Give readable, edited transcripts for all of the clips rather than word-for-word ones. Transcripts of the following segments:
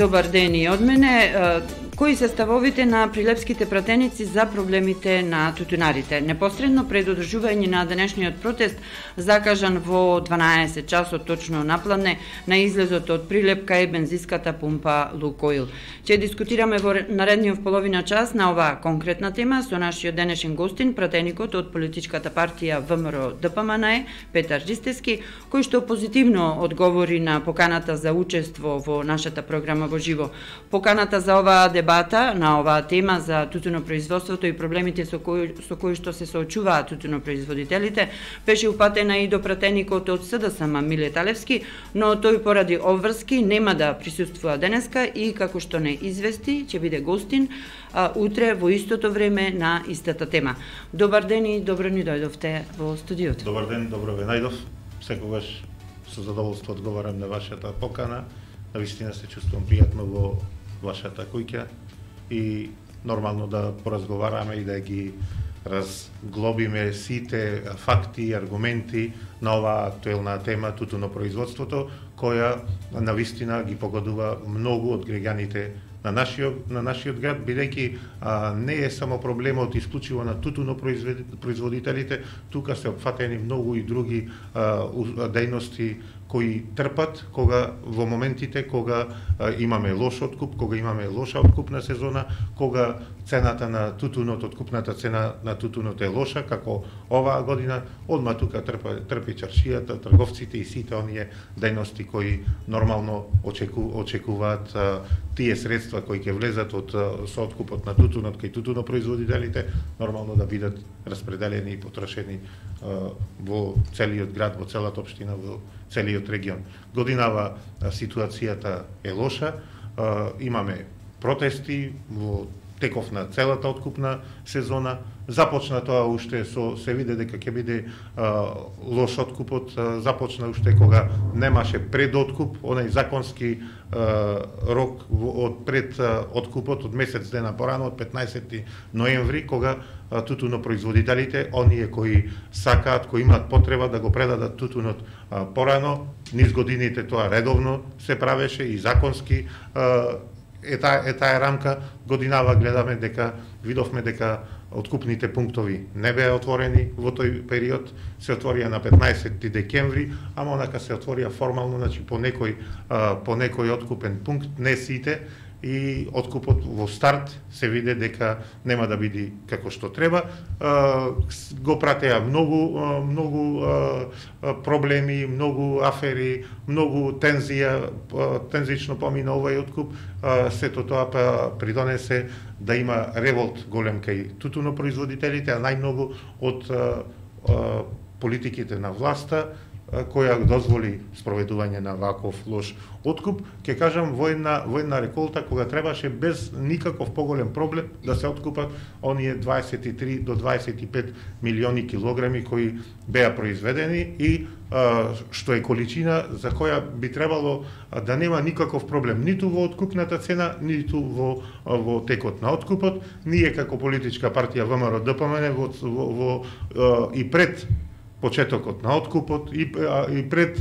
Добар ден и од мене. Кои се ставовите на прилепските пратеници за проблемите на тутунарите? Непосредно пред одржување на денешниот протест, закажан во 12 часот точно напладне, на излезот од Прилеп кај бензинската пумпа Лукоил. Ќе дискутираме во наредниот половина час на оваа конкретна тема со нашиот денешен гостин, пратеникот од политичката партија ВМРО ДПМН, Петар Ристевски, кој што позитивно одговори на поканата за учество во нашата програма во живо. Поканата за оваа дебата на оваа тема за тутунопроизводството и проблемите со кои што се соочуваат тутунопроизводителите беше упатена и до пратеникот од СДСМ Миле Талевски, но тој поради обврски нема да присуствува денеска и како што не извести, ќе биде гостин утре во истото време на истата тема. Добар ден и добро ни дојдовте во студиото. Добар ден, добро ве најдов. Секогаш со задоволство одговарам на вашата покана. Навистина се чувствувам пријатно во вашата куќа и нормално да поразговараме и да ги разглобиме сите факти и аргументи на оваа актуелна тема тутунопроизводството, која навистина ги погодува многу од граѓаните на нашиот град, бидејќи не е само проблемот исклучиво на тутунопроизводителите, тука се опфатени многу и други дејности кои трпат во моментите кога имаме лош откуп, кога имаме лоша откупна сезона, кога цената на тутунот, откупната цена на тутунот е лоша, како оваа година, одма тука трпи чаршијата, трговците и сите оние дејности кои нормално очекуваат тие средства кои ќе влезат со откупот на тутунот кај тутунопроизводителите, нормално да бидат распределени и потрошени во целиот град, во целата општина, во целиот регион. Годинава ситуацијата е лоша, имаме протести во теков на целата откупна сезона. Започна тоа уште се виде дека ќе биде лош откупот, започна уште кога немаше предоткуп, онај законски рок од пред откупот од месец дена порано, од 15 ноември, кога тутунопроизводителите, оние кои сакаат, кои имаат потреба да го предадат тутунот порано, низ годините тоа редовно се правеше и законски е таа рамка. Годинава гледаме дека видовме дека откупните пунктови не беа отворени во тој период, се отворија на 15 декември, ама онака се отворија формално, значи по некој откупен пункт, не сите, и откупот во старт се виде дека нема да биде како што треба. Го пратеа многу проблеми, многу афери, многу тензично помина овој откуп. Сето тоа придонесе да има револт голем кај тутунопроизводителите, а најмногу од политиките на власта, која дозволи спроведување на ваков лош откуп, ќе кажам во една реколта кога требаше без никаков поголем проблем да се откупат оние 23 до 25 милиони килограми кои беа произведени и што е количина за која би требало да нема никаков проблем ниту во откупната цена, ниту во текот на откупот. Ние како политичка партија ВМРО ДПМН и пред почетокот на откупот и пред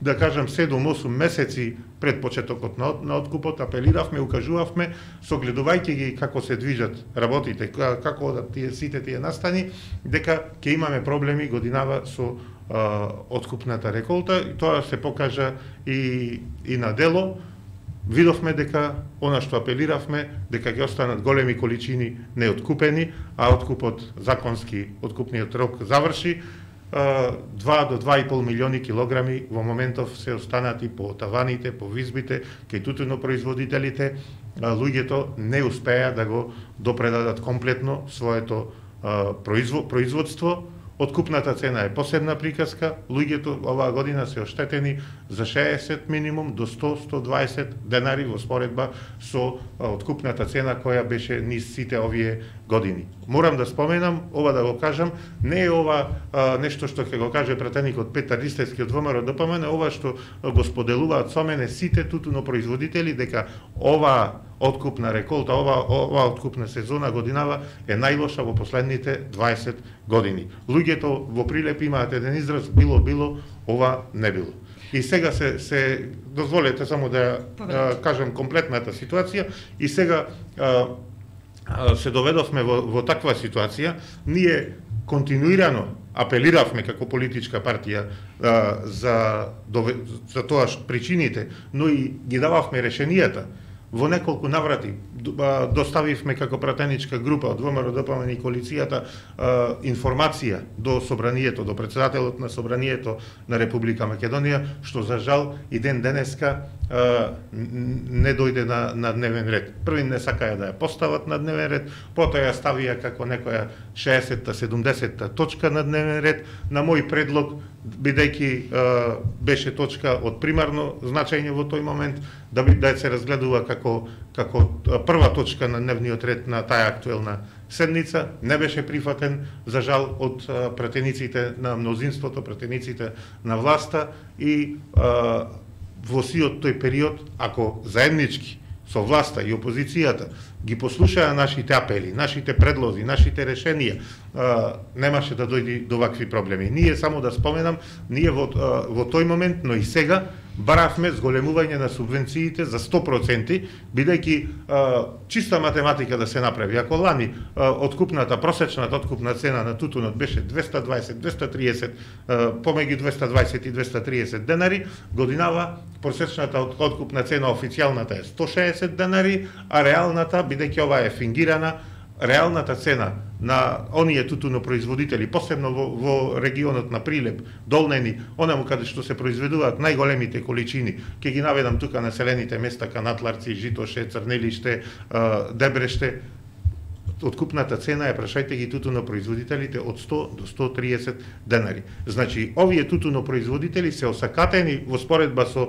да кажам 7-8 месеци пред почетокот на откупот апелиравме, укажувавме, согледувајќи ги како се движат работите, како одат сите тие настани, дека ќе имаме проблеми годинава со откупната реколта, и тоа се покажа и на дело. Видовме дека она што апелиравме, дека ќе останат големи количини неоткупени, а откупот законски, откупниот рок заврши, 2 до 2,5 милиони килограми во моментов се останати по таваните, по визбите, кај тутунопроизводителите. Луѓето не успеа да го допредадат комплетно своето производство. Откупната цена е посебна приказка. Луѓето оваа година се оштетени за 60 минимум до 100-120 денари во споредба со откупната цена која беше низ сите овие години. Морам да споменам, ова да го кажам, не е ова нешто што ќе го каже пратеникот Петар Ристевски од ВМРО ДПМН, ова што го споделуваат со мене сите тутунопроизводители, дека ова откупна реколта, ова откупна сезона годинава е најлоша во последните 20 години. Луѓето во Прилеп имаат еден израз: било, ова не било. И сега се дозволете само да кажам комплетната ситуација, и сега се доведовме во таква ситуација. Ние континуирано апелиравме како политичка партија за тоа причините, но и ги дававме решенијата. Во неколку наврати доставивме како пратеничка група од ВМРО, ДПМН и коалицијата информација до собранието, до председателот на собранието на Република Македонија, што за жал и ден денеска не дојде на дневен ред. Први не сакаја да ја постават на дневен ред, потоа ја ставија како некоја 60-та, 70-та точка на дневен ред. На мој предлог, бидејќи беше точка од примарно значење во тој момент, да се разгледува како прва точка на дневниот ред на таа актуелна седница, не беше прифатен, за жал, од пратениците на мнозинството, пратениците на власта, и во сиот тој период, ако заеднички со власта и опозицијата ги послушаа нашите апели, нашите предлози, нашите решенија, немаше да дојде до вакви проблеми. Ние, само да споменам, ние во тој момент, но и сега, баравме зголемување на субвенциите за 100%, бидејќи чиста математика да се направи. Ако лани просечната откупна цена на тутунот беше 220, 230, помеѓу 220 и 230 денари, годинава просечната откупна цена официјалната е 160 денари, а реалната, бидејќи ова е фингирана, реалната цена на оние тутунопроизводители, посебно во регионот на Прилеп, Долнени, онаму каде што се произведуваат најголемите количини, ќе ги наведам тука населените места: Канатларци, Житоше, Црнелиште, Дебреште, откупната цена е, прашајте ги тутунопроизводителите, од 100 до 130 денари. Значи, овие тутунопроизводители се осакатени во споредба со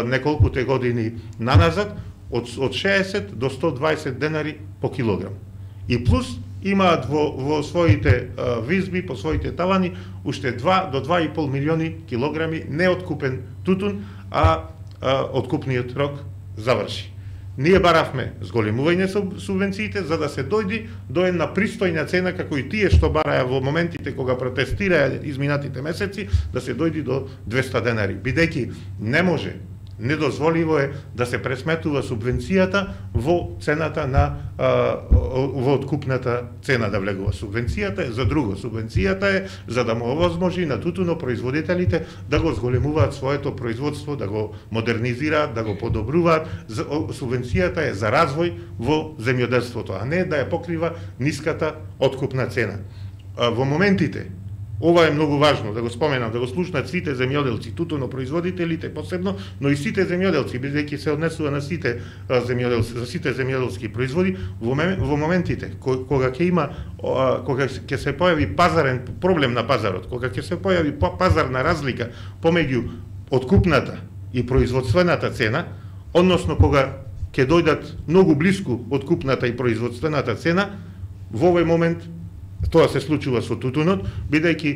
неколкуте години наназад, од 60 до 120 денари по килограм. И плюс имаат во своите визби, по своите тавани, уште 2 до 2,5 милиони килограми неоткупен тутун, а откупниот рок заврши. Ние баравме зголемување субвенциите за да се дојди до една пристојна цена, како и тие што бараја во моментите кога протестираја изминатите месеци, да се дојди до 200 денари. Бидејќи не може, недозволиво е да се пресметува субвенцијата во цената во откупната цена да влегува. Субвенцијата е за друго. Субвенцијата е за да му овозможи на тутунопроизводителите да го зголемуваат своето производство, да го модернизираат, да го подобруваат. Субвенцијата е за развој во земјоделството, а не да ја покрива ниската откупна цена. Во моментите, ова е многу важно да го споменам, да го слушнат сите земјоделци, тутунопроизводителите посебно, но и сите земјоделци, бидејќи се однесува на сите земјоделци, за сите земјоделски производи. Во моментите кога ќе се појави пазарен проблем на пазарот, кога ќе се појави пазарна разлика помеѓу откупната и производствената цена, односно кога ќе дојдат многу блиску откупната и производствената цена, во овој момент тоа се случува со тутунот, бидејќи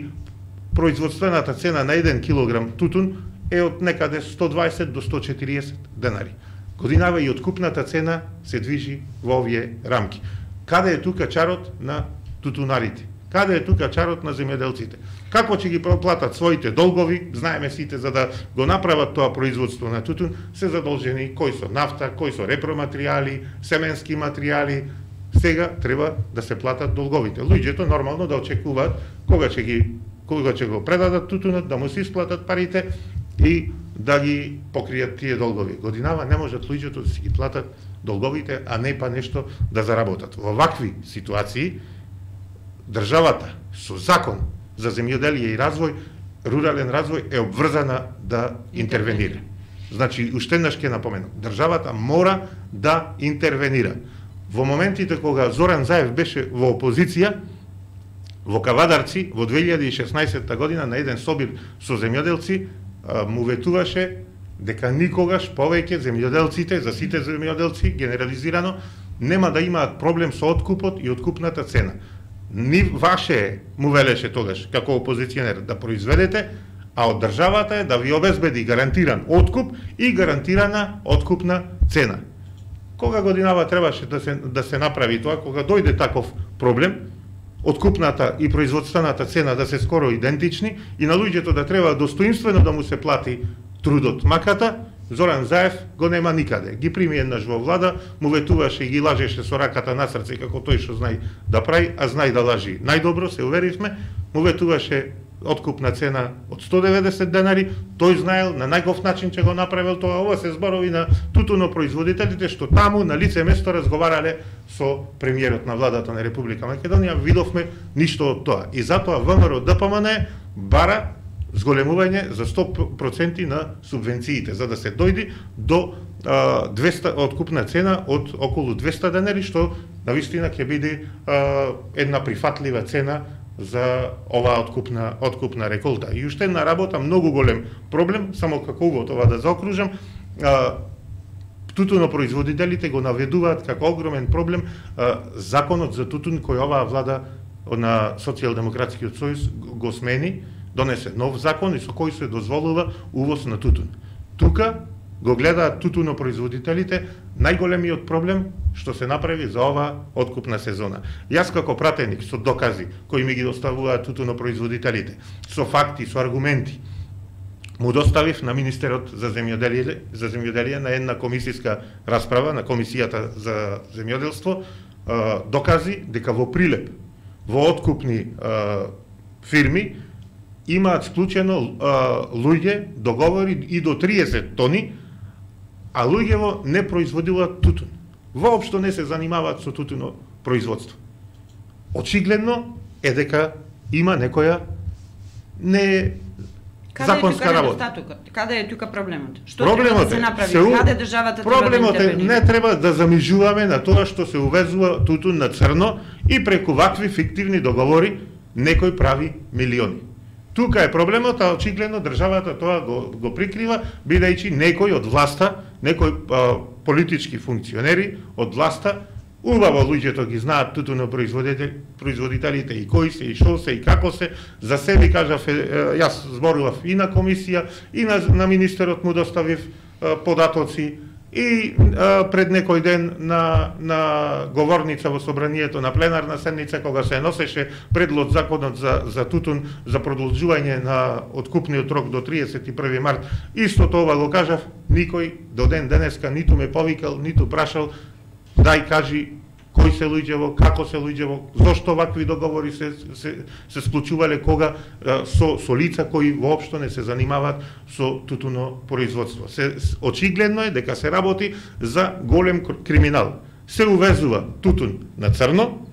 производствената цена на 1 килограм тутун е од некаде 120 до 140 денари. Годинава и откупната цена се движи во овие рамки. Каде е тука чарот на тутунарите? Каде е тука чарот на земјоделците? Како ќе ги платат своите долгови? Знаеме сите, за да го направат тоа производство на тутун, се задолжени кои со нафта, кои со репроматеријали, семенски материјали. Сега треба да се платат долговите. Луѓето нормално да очекуваат кога ќе го предадат тутунот, да му се исплатат парите и да ги покријат тие долгови. Годинава не можат луѓето да си ги платат долговите, а не па нешто да заработат. Во вакви ситуации државата со закон за земјоделие и развој, рурален развој, е обврзана да интервенира. Значи, уште еднаш ќе напоменам, државата мора да интервенира. Во моментите кога Зоран Заев беше во опозиција, во Кавадарци, во 2016 година, на еден собир со земјоделци, му ветуваше дека никогаш повеќе земјоделците, за сите земјоделци, генерализирано, нема да имаат проблем со откупот и откупната цена. Ни ваше, му велеше тогаш, како опозиционер, да произведете, а од државата е да ви обезбеди гарантиран откуп и гарантирана откупна цена. Кога годинава требаше да се направи тоа, кога дојде таков проблем, откупната и производствената цена да се скоро идентични и на луѓето да треба достоинствено да му се плати трудот, маката, Зоран Заев го нема никаде. Ги прими еднаш во влада, му ветуваше и ги лажеше со раката на срце како тој што знај да прави, а знај да лажи. Најдобро се уверивме, му ветуваше откупна цена од 190 денари, тој знаел на најгов начин че го направил тоа. Ова се зборови на тутунопроизводителите што таму на лице место разговарале со премиерот на владата на Република Македонија, видовме ништо од тоа. И затоа ВМРО ДПМН бара зголемување за 100% на субвенциите, за да се дојди до 200 откупна цена од околу 200 денари, што навистина ќе биде една прифатлива цена за оваа откупна реколта. И уште една работа, многу голем проблем, само како увод ова да заокружам, тутунопроизводителите го наведуваат како огромен проблем законот за тутун кој оваа влада на Социјалдемократскиот сојуз го смени, донесе нов закон и со кој се дозволува увоз на тутун. Тука го гледаат тутунопроизводителите најголемиот проблем што се направи за оваа откупна сезона. Јас како пратеник со докази кои ми ги доставуваат тутунопроизводителите, со факти, со аргументи, му доставив на Министерот за земјоделие на една комисиска расправа на Комисијата за земјоделство докази дека во Прилеп, во откупни фирми имаат склучено луѓе договори и до 30 тони, а луѓево не производуваат тутун. Воопшто не се занимаваат со тутуно производство. Очигледно е дека има некоја законска работа. Каде е тука проблемот? Што треба да се направи? Каде државата треба да Проблемот е интервенира? не треба да замижуваме на тоа што се увезува тутун на црно и преку вакви фиктивни договори некој прави милиони. Тука е проблемот, а очигледно државата тоа го прикрива, бидејќи некој од власта, некој политички функционери од власта, убаво луѓето ги знаат тутунопроизводителите и кои се, и што се, и како се, за себе кажав, јас зборував и на комисија, и на министерот му доставив податоци, и пред некој ден на говорница во собранието на пленарна седница, кога се носеше предлог законот за тутун, за продолжување на откупниот рок до 31 март, истото ова го кажав, никој до ден денеска ниту ме повикал, ниту прашал, дај кажи кои се луѓево, како се луѓево, зошто вакви договори се склучувале кога со лица кои воопшто не се занимаваат со тутуно производство. Очигледно е дека се работи за голем криминал. Се увезува тутун на црно,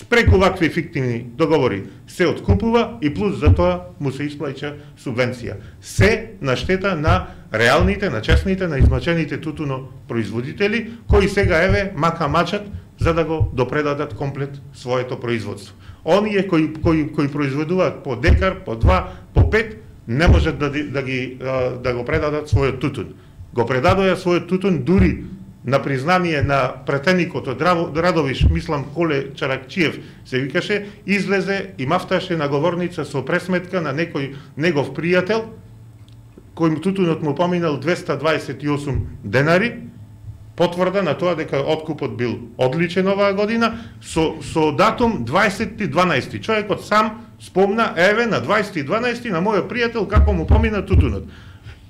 преку вакви фиктивни договори се откупува и плюс за тоа му се исплаќа субвенција. Се на штета на реалните, на честните, на измачените тутуно производители, кои сега еве мака мачат за да го допредадат комплет своето производство. Оние кои произведуваат по декар, по 2, по 5, не можат да го предадат својот тутун. Го предадоја својот тутун дури на признание на претеникот од Радовиш, мислам Коле Чаракчиев се викаше, излезе и мафташе на говорница со пресметка на некој негов пријател, кој тутунот му поминал 228 денари, потврда на тоа дека откупот бил одличен оваа година, со датум 20.12. Човекот сам спомна, еве на 20.12. на мојот пријател како му помина тутунот.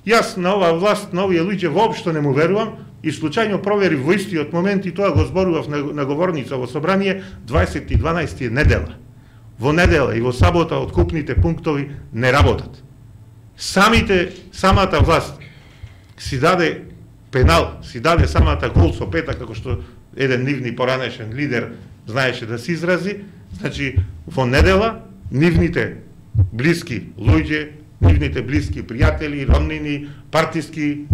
Јас на оваа власт, на овие луѓе воопшто не му верувам и случајно проверив во истиот момент и тоа го зборував на говорница во собрание, 20.12. е недела. Во недела и во сабота откупните пунктови не работат. Самата власт си даде пенал, си даде самата гол со пета, како што еден нивни поранешен лидер знаеше да се изрази. Значи, во недела, нивните блиски луѓе, нивните блиски пријатели, роднини, партиски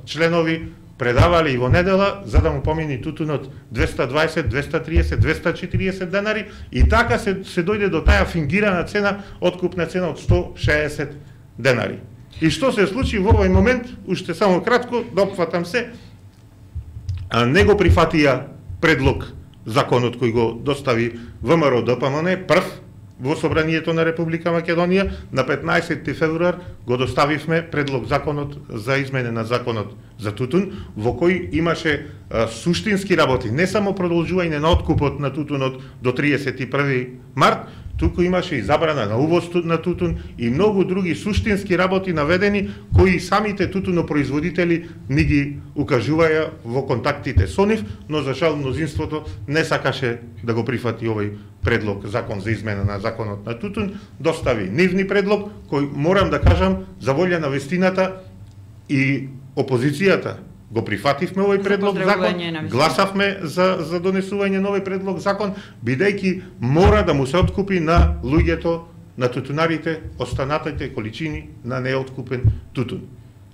членови предавале и во недела за да му помини тутунот 220, 230, 240 денари и така се дојде до таа фингирана цена, откупна цена од 160 денари. И што се случи во овој момент, уште само кратко, допфатам се, не го прифатија предлог законот кој го достави ВМРО ДПМН прв во собранието на Република Македонија. На 15 февруар го доставивме предлог законот за измене на законот за тутун, во кој имаше суштински работи, не само продолжување на откупот на тутунот до 31 март, туку имаше и забрана на увоз на тутун и многу други суштински работи наведени, кои самите тутунопроизводители ни ги укажуваја во контактите со нив, но за жал мнозинството не сакаше да го прифати овој предлог, закон за измена на законот на тутун, достави нивни предлог, кој, морам да кажам, за волја на вестината и опозицијата го прифативме овој предлог закон, гласавме за донесување на овој предлог закон, бидејќи мора да му се откупи на луѓето, на тутунарите, останатите количини на неоткупен тутун.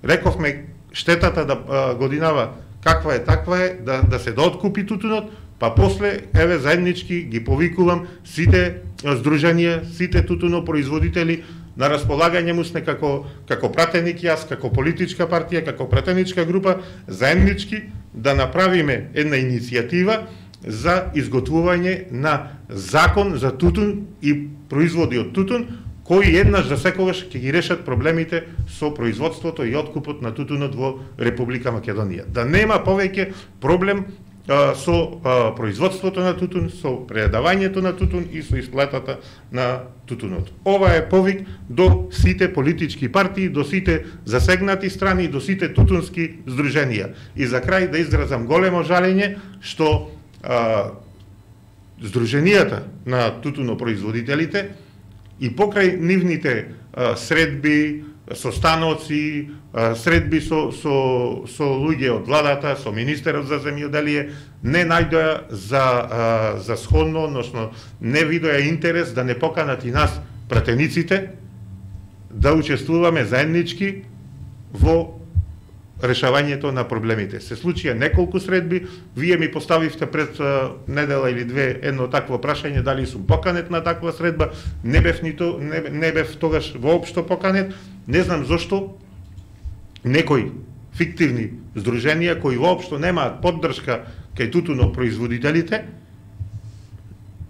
Рековме штетата да годинава каква е, таква е, да се дооткупи тутунот, па после, еве, заеднички ги повикувам сите здруженија, сите тутунопроизводители, на располагање му сме како пратеник јас, како политичка партија, како пратеничка група, заеднички да направиме една иницијатива за изготвување на закон за тутун и производи од тутун, кои еднаш за секогаш ќе ги решат проблемите со производството и откупот на тутунот во Република Македонија. Да нема повеќе проблем со производството на тутун, со предавањето на тутун и со исплатата на тутунот. Ова е повик до сите политички партии, до сите засегнати страни, до сите тутунски здруженија. И за крај да изразам големо жалење што здруженијата на тутунопроизводителите и покрај нивните средби, состаноци, средби со луѓе од владата, со министерот за земјоделие, не најдоа за сходно, односно не видоа интерес да не поканат и нас, пратениците, да учествуваме заеднички во решавањето на проблемите. Се случија неколку средби, вие ми поставивте пред недела или две едно такво прашање, дали сум поканет на таква средба, не бев тогаш воопшто поканет, не знам зошто некои фиктивни здруженија кои воопшто немаат поддршка кај тутунопроизводителите,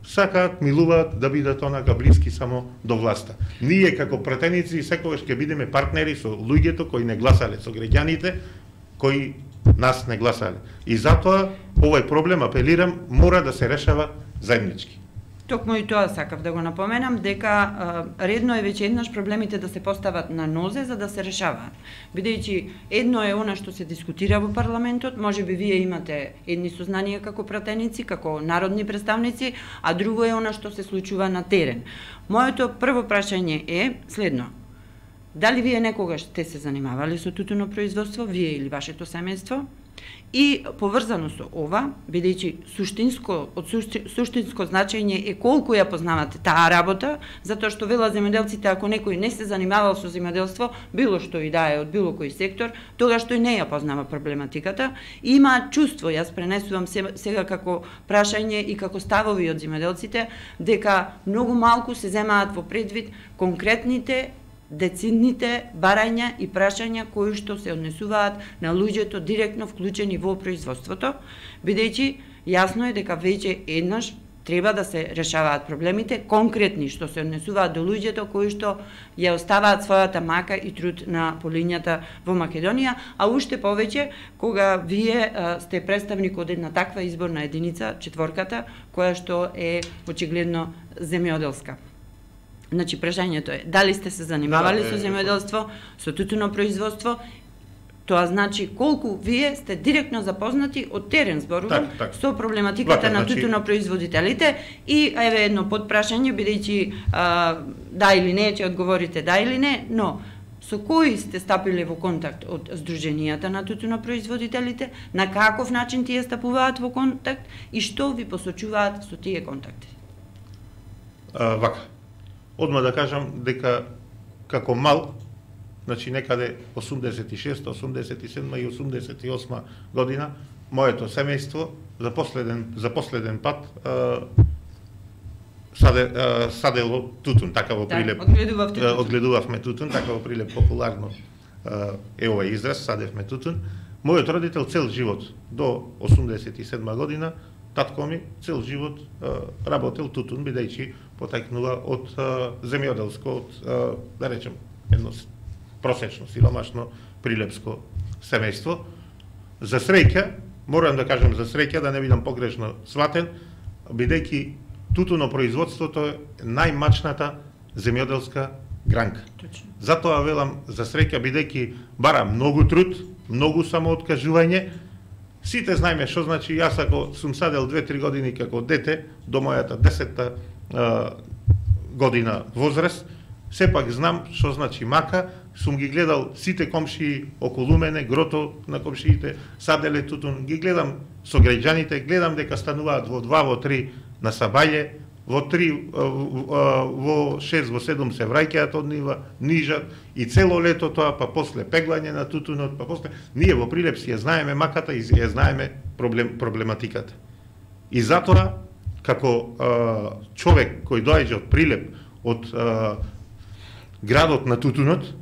сакаат, милуваат да бидат онака блиски само до власта. Ние како пратеници секогаш ќе бидеме партнери со луѓето кои не гласале, со граѓаните кои нас не гласале. И затоа овој проблем, апелирам, мора да се решава заеднички. Токму и тоа сакав да го напоменам, дека редно е веќе еднаш проблемите да се постават на нозе за да се решаваат. Бидејќи едно е она што се дискутира во парламентот, можеби вие имате едни сознанија како пратеници, како народни представници, а друго е она што се случува на терен. Моето прво прашање е следно. Дали вие некогаш сте се занимавали со тутунопроизводство, вие или вашето семејство? И поврзано со ова, бидејќи суштинско значење е колку ја познавате таа работа, затоа што велат земјоделците, ако некој не се занимавал со земјоделство, било што и да е од било кој сектор, тогаш тој не ја познава проблематиката, и има чувство, јас пренесувам сега како прашање и како ставови од земјоделците, дека многу малку се земаат во предвид конкретните децидните барања и прашања кои што се однесуваат на луѓето директно вклучени во производството, бидејќи јасно е дека веќе еднаш треба да се решаваат проблемите конкретни што се однесуваат до луѓето кои што ја оставаат својата мака и труд на полињата во Македонија, а уште повеќе кога вие сте представник од една таква изборна единица, четворката, која што е очигледно земјоделска. Значи, прашањето е, дали сте се занимавали со земјоделство, со тутунопроизводство, тоа значи колку вие сте директно запознати од терен, зборувам, со проблематиката на тутунопроизводителите, и еве едно подпрашање, бидејќи да или не, ќе одговорите да или не, но со кои сте стапиле во контакт од здруженијата на тутунопроизводителите, на каков начин тие стапуваат во контакт и што ви посочуваат со тие контакти? Вака. Одма да кажам дека како мал, значи некаде 86, 87 и 88 година, моето семејство за последен пат садело тутун, така во Прилеп. Одгледувавме тутун, така во Прилеп популарно е овој израз, садевме тутун. Мојот родител цел живот до 87 година, татко ми цел живот работел тутун, бидејќи потекнува од земјоделско, од, да речем, едно просечно, сиромашно прилепско семејство, За среќа, морам да кажам за среќа, да не бидам погрешно сватен, бидејќи тутунопроизводството е најмачната земјоделска гранка. Точно. Затоа велам за среќа, бидејќи бара многу труд, многу самооткажување. Сите знаеме што значи, јас ако сум садел 2-3 години како дете, до мојата 10-та година возраст, сепак знам што значи мака, сум ги гледал сите комшии околу мене, грото на комшиите, саделе тутун, ги гледам со граѓаните, гледам дека стануваат во 2, во 3 на сабаје, во 3, во 6, во 7 се враќаат од нива, нижат и цело лето тоа, па после пеглање на тутунот, па после ние во Прилеп си ја знаеме маката и ја знаеме проблематиката. И затоа како човек кој доаѓа од Прилеп, од градот на тутунот,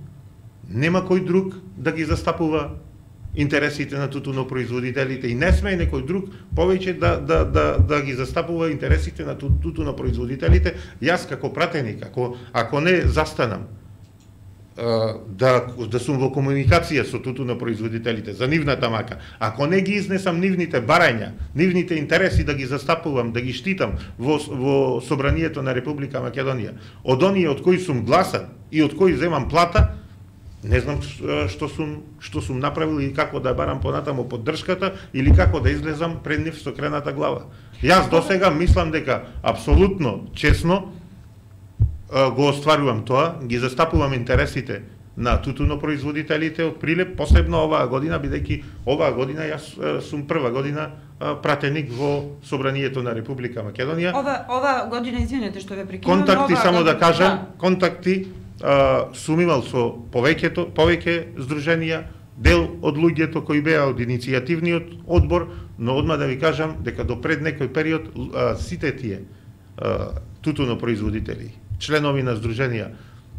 нема кој друг да ги застапува интересите на тутунопроизводителите и не смее некој друг повеќе да ги застапува интересите на тутунопроизводителите. Јас како пратеник, ако не застанам да сум во комуникација со тутунопроизводителите за нивната мака, ако не ги изнесам нивните барања, нивните интереси да ги застапувам, да ги штитам во Собранието на Република Македонија, од оние од кои сум гласан и од кои земам плата, не знам што сум направил и како да барам понатаму поддршката или како да излезам пред нив со крената глава. Јас досега мислам дека апсолутно честно го остварувам тоа, ги застапувам интересите на тутунопроизводителите од Прилеп, посебно оваа година, бидејќи оваа година јас сум прва година пратеник во Собранието на Република Македонија. Ова година, извинете што ве прекинувам. Контакти, само да кажам, контакти сум имал со повеќе здруженија, дел од луѓето кои беа од иницијативниот одбор, но одма да ви кажам дека до пред некој период сите тие тутунопроизводители, членови на здруженија,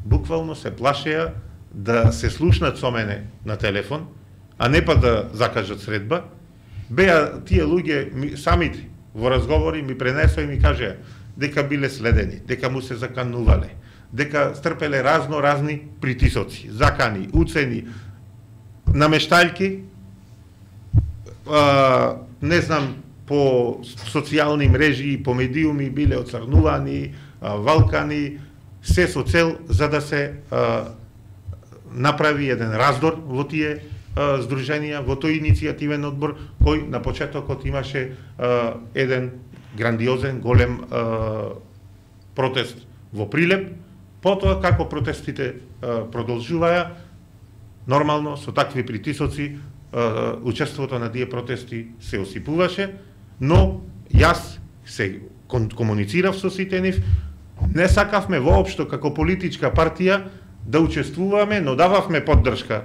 буквално се плашеа да се слушнат со мене на телефон, а не па да закажат средба. Беа тие луѓе самите во разговори ми пренесоа и ми кажеа дека биле следени, дека му се заканувале, дека стрпеле разни притисоци, закани, уцени, намештајки, не знам, по социјални мрежи и по медиуми биле оцрнувани, валкани, се со цел за да се направи еден раздор во тие здруженија, во тој иницијативен одбор, кој на почетокот имаше еден грандиозен, голем протест во Прилеп. Потоа, како протестите продолжуваја, нормално, со такви притисоци, учеството на тие протести се осипуваше, но јас се комуницирав со сите нив, не сакавме воопшто како политичка партија да учествуваме, но дававме поддршка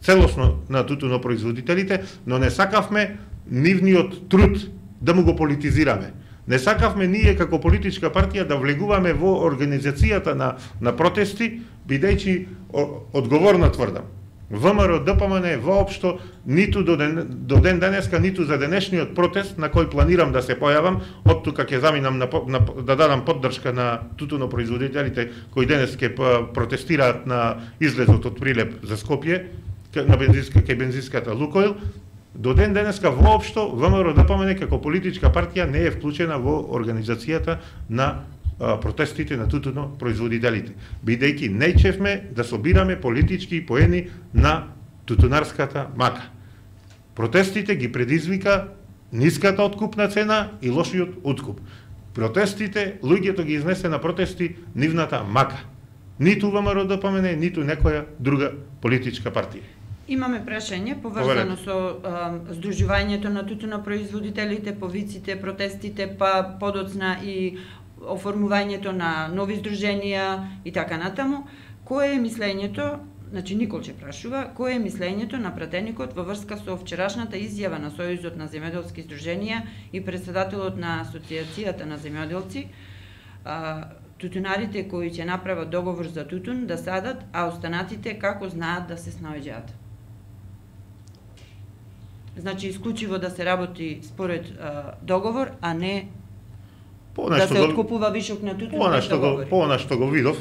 целосно на тутунопроизводителите, но не сакавме нивниот труд да му го политизираме. Не сакавме ние како политичка партија да влегуваме во организацијата на протести, бидејќи одговорно тврдам. ВМРО ДПМН воопшто ниту до ден денеска, ниту за денешниот протест на кој планирам да се појавам, од тука ќе заминам да дадам поддршка на тутунопроизводителите кои денес ќе протестираат на излезот од Прилеп за Скопје, кај бензинската Лукойл. До ден денеска воопшто ВМРО ДПМН како политичка партија не е вклучена во организацијата на протестите на тутунопроизводителите, бидејќи неќевме да собираме политички поени на тутунарската мака. Протестите ги предизвика ниската откупна цена и лошиот откуп. Протестите, луѓето ги изнесе на протести нивната мака. Ниту ВМРО ДПМН, ниту некоја друга политичка партија. Имаме прашање поврзано со здружувањето на тутунопроизводителите, повиците, протестите, па подоцна и оформувањето на нови здруженија и така натаму. Кое е мислењето, значи Николче прашува, кое е мислењето на пратеникот во врска со вчерашната изјава на Сојузот на земјоделски здруженија и председателот на Асоциацијата на земјоделци, тутунарите кои ќе направат договор за тутун да садат, а останатите како знаат да се снаоѓаат? Значи, исклучиво да се работи според договор, а не да се откупува вишок на тутун без договори. По она што го видов,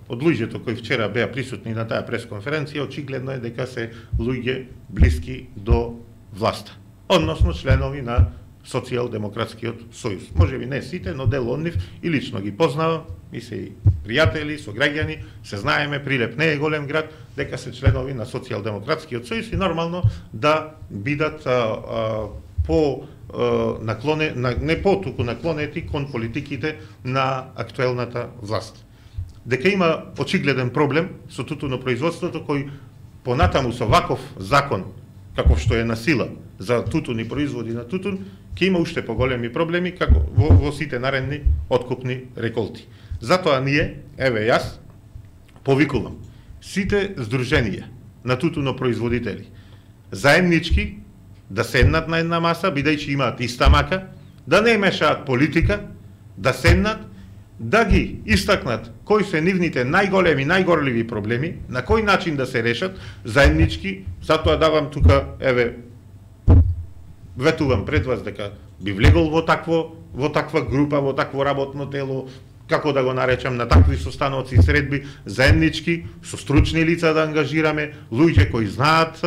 од луѓето кои вчера беа присутни на таа пресконференција, очигледно е дека се луѓе блиски до власта, односно членови на Социјалдемократскиот сојуз. Може би не сите, но дел од нив и лично ги познавам, и се и пријатели, сограѓани, се знаеме, Прилеп не е голем град, дека се членови на Социјалдемократскиот сојуз и нормално да бидат не потуку наклонети кон политиките на актуелната власт. Дека има очигледен проблем со тутунопроизводството кој понатаму со ваков закон каков што е на сила за тутун и производи на тутун, ќе има уште поголеми проблеми како во сите наредни откупни реколти. Затоа ние, еве јас, повикувам сите здруженија на тутунопроизводители заеднички да седнат на една маса, бидејќи имаат иста мака, да не мешаат политика, да седнат, да ги истакнат кои се нивните најголеми, најгорливи проблеми, на кој начин да се решат заеднички. Затоа давам тука, еве, ветувам пред вас дека би влегол во таква група, во такво работно тело, како да го наречам, на такви состаноци и средби, заеднички, со стручни лица да ангажираме, луѓе кои знаат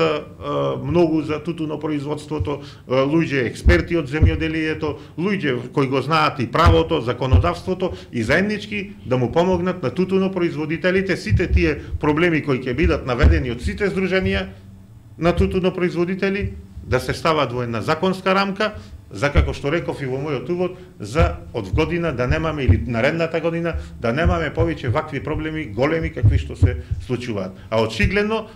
многу за тутунопроизводството, луѓе експерти од земјоделието, луѓе кои го знаат и правото, законодавството, и заеднички да му помогнат на тутунопроизводителите сите тие проблеми кои ќе бидат наведени од сите здруженија на тутунопроизводители да се стават во една законска рамка, за како што реков и во мојот увод, за од година да немаме, или наредната година, да немаме повеќе вакви проблеми големи какви што се случуваат. А очигледно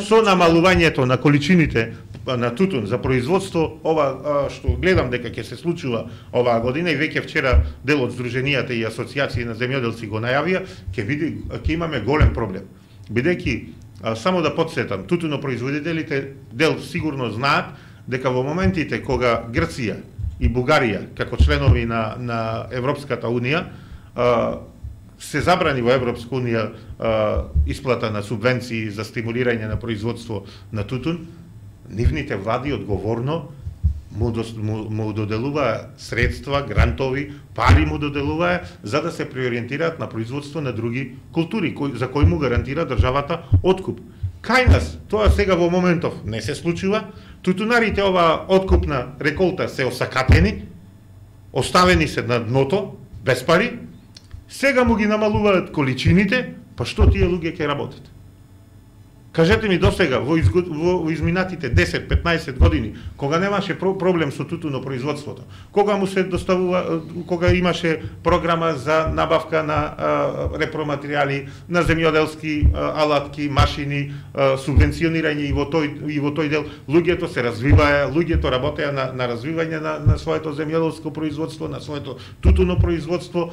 со намалувањето на количините на тутун за производство, ова што гледам дека ќе се случува оваа година, и веќе вчера дел од здруженијата и асоциации на земјоделци го најавија, ќе имаме голем проблем. Бидејќи, само да подсетам, тутунопроизводителите дел сигурно знаат дека во моментите кога Грција и Бугарија, како членови на Европската Унија, се забрани во Европска Унија исплата на субвенции за стимулирање на производство на тутун, нивните влади одговорно му доделуваа средства, грантови, пари му доделуваа за да се преориентираат на производство на други култури, за кои му гарантира државата откуп. Кај нас тоа сега во моментов не се случува. Тутунарите оваа откупна реколта се осакатени, оставени се на дното, без пари, сега му ги намалуваат количините, па што тие луѓе ќе работат? Кажете ми досега, во изминатите 10-15 години, кога немаше проблем со тутунопроизводството, кога му се доставува, кога имаше програма за набавка на репроматеријали, на земјоделски алатки, машини, субвенционирање и во тој дел, луѓето се развиваа, луѓето работеа на развивање на своето земјоделско производство, на своето тутунопроизводство,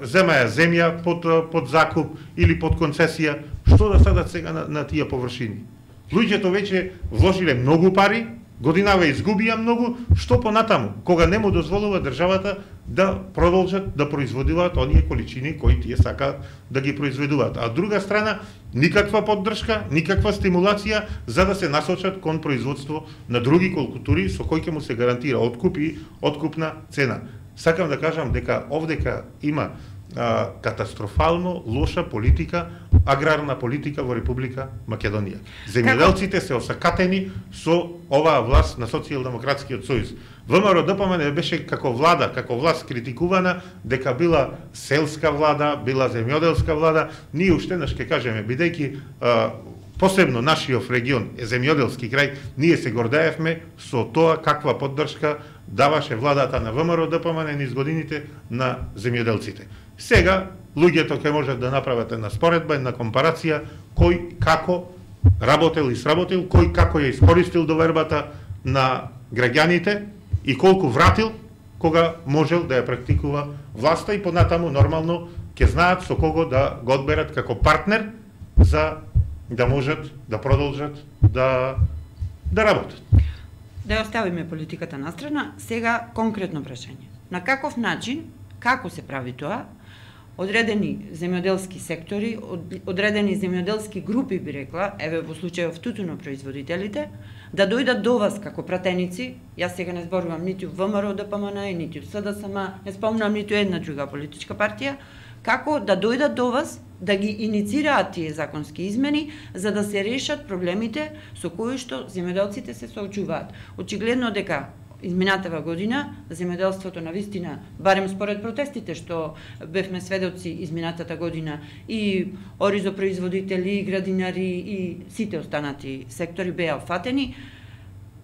земаја земја под закуп или под концесија. Што да садат сега на тие површини? Луѓето веќе вложиле многу пари, годинава изгубија многу, што понатаму, кога не му дозволува државата да продолжат да производуваат оние количини кои тие сакаат да ги произведуваат. А од друга страна, никаква поддршка, никаква стимулација за да се насочат кон производство на други култури со кои ќе му се гарантира откуп и откупна цена. Сакам да кажам дека овдека има катастрофално лоша политика, аграрна политика во Република Македонија. Земјоделците се осакатени со оваа власт на Социјалдемократскиот сојуз. ВМРО-ДПМН беше како власт критикувана дека била селска влада, била земјоделска влада. Ние уштенаш ќе кажеме, бидејќи посебно нашиот регион е земјоделски крај, ние се гордеевме со тоа каква поддршка даваше владата на ВМРО-ДПМН низ годините на земјоделците. Сега луѓето ќе можат да направат една споредба, една компарација, кој како работел и сработил, кој како ја искористил довербата на граѓаните и колку вратил кога можел да ја практикува власта, и понатаму нормално ќе знаат со кого да го одберат како партнер за да можат да продолжат да работат. Да ја оставиме политиката на страна, сега конкретно прашање. На каков начин, како се прави тоа, одредени земјоделски сектори, одредени земјоделски групи, би рекла, еве во случајов тутунопроизводителите, да дојдат до вас како пратеници, јас сега не зборувам ниту ВМРО-ДПМН, ниту СДСМ, не спомнам ниту една друга политичка партија, како да дојдат до вас, да ги иницираат тие законски измени за да се решат проблемите со кои што земјоделците се соочуваат. Очигледно дека изминатава година земјоделството навистина, барем според протестите што бевме сведоци изминатата година, и оризопроизводители, и градинари и сите останати сектори беа фатени.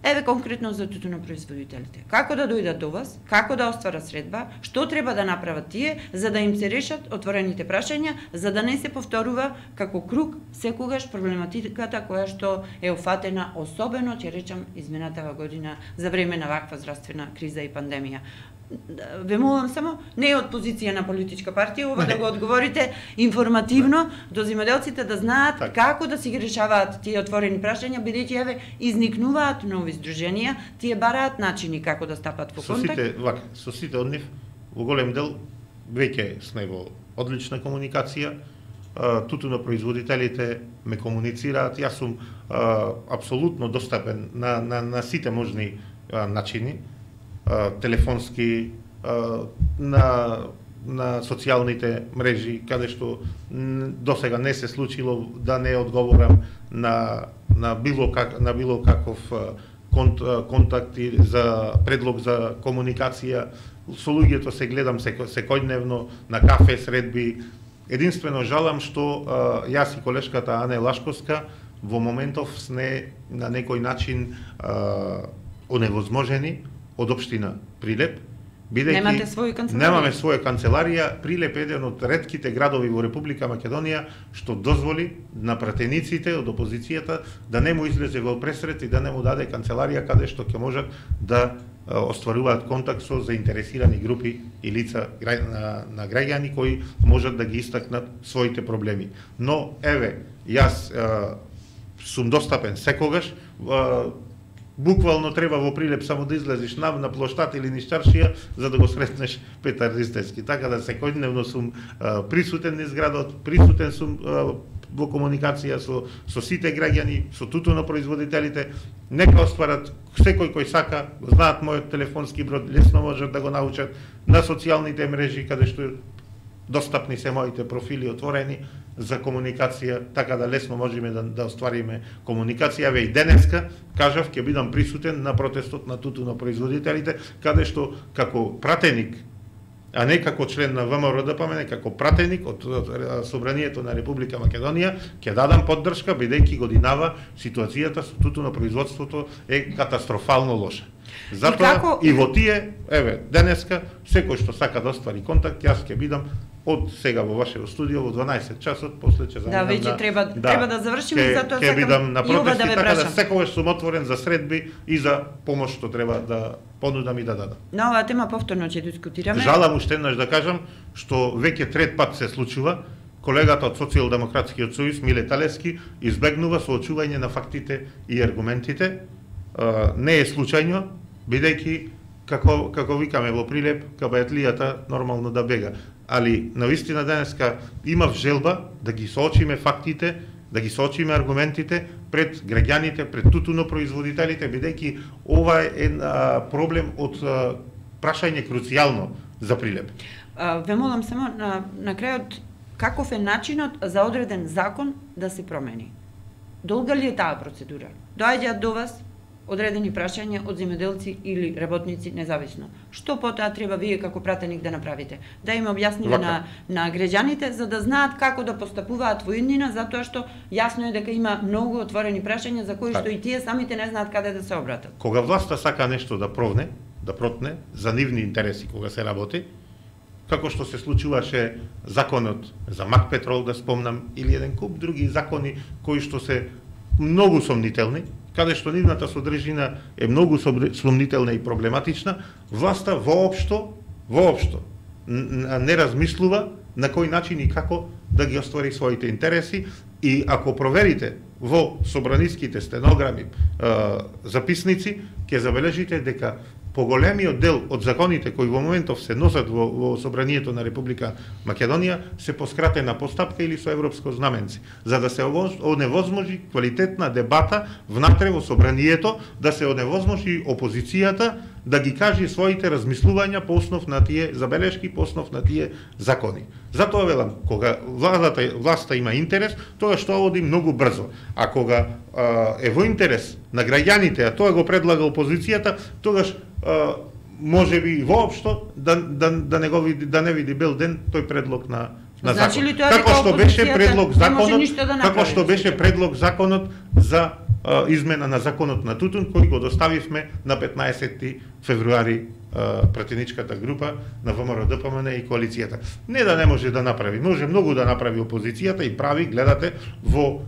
Еве конкретно за тутунопроизводителите. Како да дојдат до вас, како да остварат средба, што треба да направат тие за да им се решат отворените прашања, за да не се повторува како круг секогаш проблематиката која што е офатена, особено ќе речам изминатава година за време на ваква здравствена криза и пандемија. Ве молам само, не е од позиција на политичка партија, ова да го одговорите информативно до земјоделците да знаат како да си ги решаваат тие отворени прашања, бидејќи еве изникнуваат нови здруженија, тие бараат начини како да стапат во контакт. Со сите од нив, во голем дел веќе сме во одлична комуникација. Тутунопроизводителите ме комуницираат, јас сум апсолутно достапен на сите можни начини, телефонски, на социјалните мрежи, каде што досега не се случило да не одговорам на било каков контакт и за предлог за комуникација. Со луѓето се гледам секојдневно на кафе средби. Единствено жалам што јас и колешката Ане Лашковска во моментов сме на некој начин оневозможени од општина Прилеп, бидејќи немаме своја канцеларија. Прилеп е еден од ретките градови во Република Македонија што дозволи на пратениците од опозицијата да не му излезе во пресрет и да не му даде канцеларија каде што ќе можат да остваруваат контакт со заинтересирани групи и лица на граѓани кои можат да ги истакнат своите проблеми. Но еве, јас сум достапен секогаш. Буквално треба во Прилеп само да излезеш на плоштад или низ чаршија за да го сретнеш Петар Ристевски. Така да секојдневно сум присутен низ градот, присутен сум во комуникација со сите граѓани, со тутунопроизводителите. Нека остварат, секој кој сака, знаат мојот телефонски број, лесно можат да го научат на социјалните мрежи каде што достапни се моите профили отворени за комуникација, така да лесно можеме да оствариме комуникација. Ве и денеска, кажав, ќе бидам присутен на протестот на тутунопроизводителите, каде што како пратеник, а не како член на ВМРО ДПМН, како пратеник од Собранието на Република Македонија, ќе дадам поддршка, бидејќи годинава ситуацијата со тутунопроизводството е катастрофално лоша. Затоа и во тие, еве, денеска, секој што сака да оствари контакт, јас ќе бидам од сега во вашето студио во 12 часот, после ќе заминам. Да, веќе треба да завршиме, затоа ќе бидам на протести, да така да секогаш сум отворен за средби и за помош што треба да понудам и да дадам. На оваа тема повторно ќе дискутираме. Жалам уште еднаш да кажам што веќе трет пат се случува. Колегата од Социјалдемократскиот сојуз Миле Талевски избегнува соочување на фактите и аргументите. Не е случајно, бидејќи како викаме во Прилеп, кабајатлијата нормално да бега. Али навистина денеска имав желба да ги соочиме фактите, да ги соочиме аргументите пред граѓаните, пред тутунопроизводителите, бидејќи ова е проблем од прашање круцијално за Прилеп. Ве молам само на крајот, каков е начинот за одреден закон да се промени? Долга ли е таа процедура? Доаѓаат до вас одредени прашања од земјоделци или работници независно. Што потоа треба вие како пратеник да направите? Да им објасниме на граѓаните за да знаат како да постапуваат во иднина, затоа што јасно е дека има многу отворени прашања за кои што и тие самите не знаат каде да се обратат. Кога власта сака нешто да протне за нивни интереси кога се работи, како што се случуваше законот за Макпетрол, да спомнам, или еден куп други закони кои што се многу сомнителни, каде што нивната содржина е многу сомнителна и проблематична, власта воопшто не размислува на кој начин и како да ги оствари своите интереси. И ако проверите во собраниските стенограми, записници, ќе забележите дека поголемиот дел од законите кои во моментов се носат во Собранието на Република Македонија се по скратена постапка или со европско знаменци, за да се оневозможи квалитетна дебата внатре во Собранието, да се оневозможи опозицијата да ги кажи своите размислувања по основ на тие забелешки, по основ на тие закони. Затоа велам, кога власта има интерес, тоа што оди многу брзо. А кога е во интерес на граѓаните, а тоа го предлага опозицијата, тогаш можеби воопшто да не види бел ден тој предлог на Значи ли тоа како што беше предлог законот, како што беше предлог законот за измена на законот на тутун кој го доставивме на 15 февруари пратеничката група на ВМРО ДПМН и коалицијата. Не да не може да направи, може многу да направи опозицијата и прави, гледате, во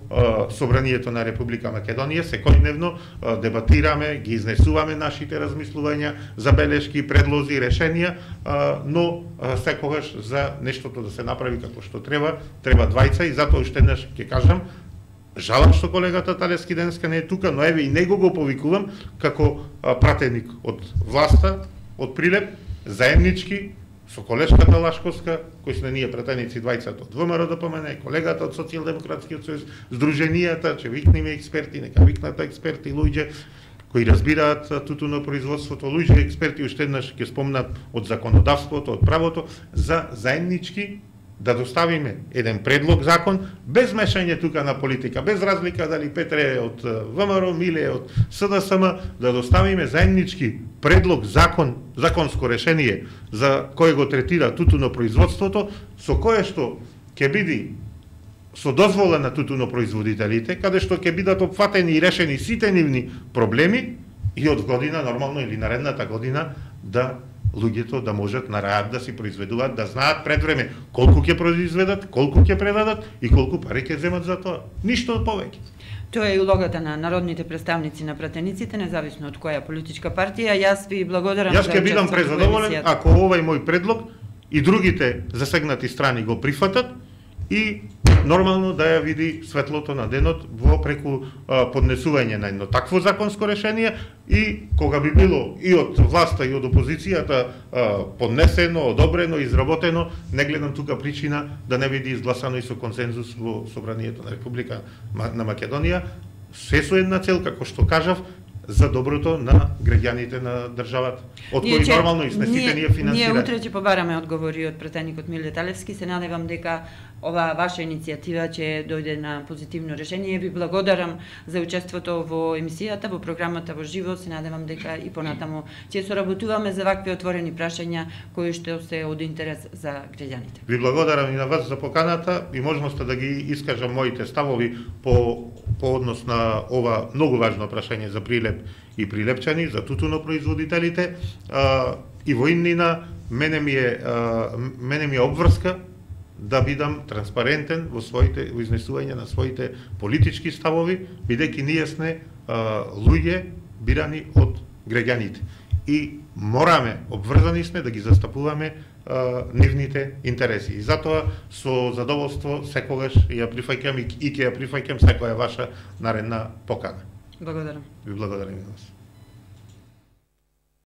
Собранието на Република Македонија секојдневно дебатираме, ги изнесуваме нашите размислувања, забелешки, предлози, решенија, но секогаш за нештото да се направи како што треба двајца и затоа уште еднаш ќе кажам, жалам што колегата Талевски денеска не е тука, но еве и него го повикувам како пратеник од власта, од Прилеп, заеднички со колешката Лашковска, кои сме ние пратеници двајцата од ВМРО ДПМН, колегата од Социјалдемократскиот сојуз, здруженијата, че викниме експерти, нека викнат експерти, луѓе кои разбираат тутунопроизводството, луѓе експерти, уште еднаш ќе спомнат од законодавството, од правото, за заеднички да доставиме еден предлог закон без мешање тука на политика, без разлика дали Петре е од ВМРО, Миле е од СДСМ, да доставиме заеднички предлог законско решение за кое го третира тутунопроизводството, со кое што ќе биде со дозвола на тутунопроизводителите, каде што ќе бидат опфатени и решени сите нивни проблеми и од година нормално или наредната година да луѓето да можат на раат да си произведуваат, да знаат пред време колку ќе произведат, колку ќе предадат и колку пари ќе земат за тоа. Ништо повеќе. Тоа е улогата на народните представници на пратениците, независно од која политичка партија. Јас ви благодарам за учеството. Јас ќе бидам презадоволен ако овој мој предлог и другите засегнати страни го прифатат и нормално да ја види светлото на денот во преку поднесување на едно такво законско решение и кога би било и од власта и од опозицијата поднесено, одобрено, изработено, не гледам тука причина да не биде изгласано и со консензус во Собранието на Република на Македонија, се со една цел, како што кажав, за доброто на граѓаните на државата, од кои нормално изнесите ние финансираме. Ние утре ќе побараме одговори од пратеникот Миле Талевски. Се надевам дека ова ваша иницијатива ќе дојде на позитивно решение. Ви благодарам за учеството во емисијата, во програмата во живо. Се надевам дека и понатаму ќе соработуваме за вакви отворени прашања кои што се од интерес за граѓаните. Ви благодарам и на вас за поканата и можноста да ги искажам моите ставови по однос на ова многу важно прашање за Прилеп и прилепчани, за тутунопроизводителите и во иднина мене ми е обврска да бидам транспарентен во изнесување на своите политички ставови, бидејќи ние сме луѓе бирани од граѓаните и мораме, обврзани сме да ги застапуваме нивните интереси. И затоа со задоволство секогаш ја прифаќам и ќе ја прифаќам секоја ваша наредна покана. Благодарам. Ви благодарам и на вас.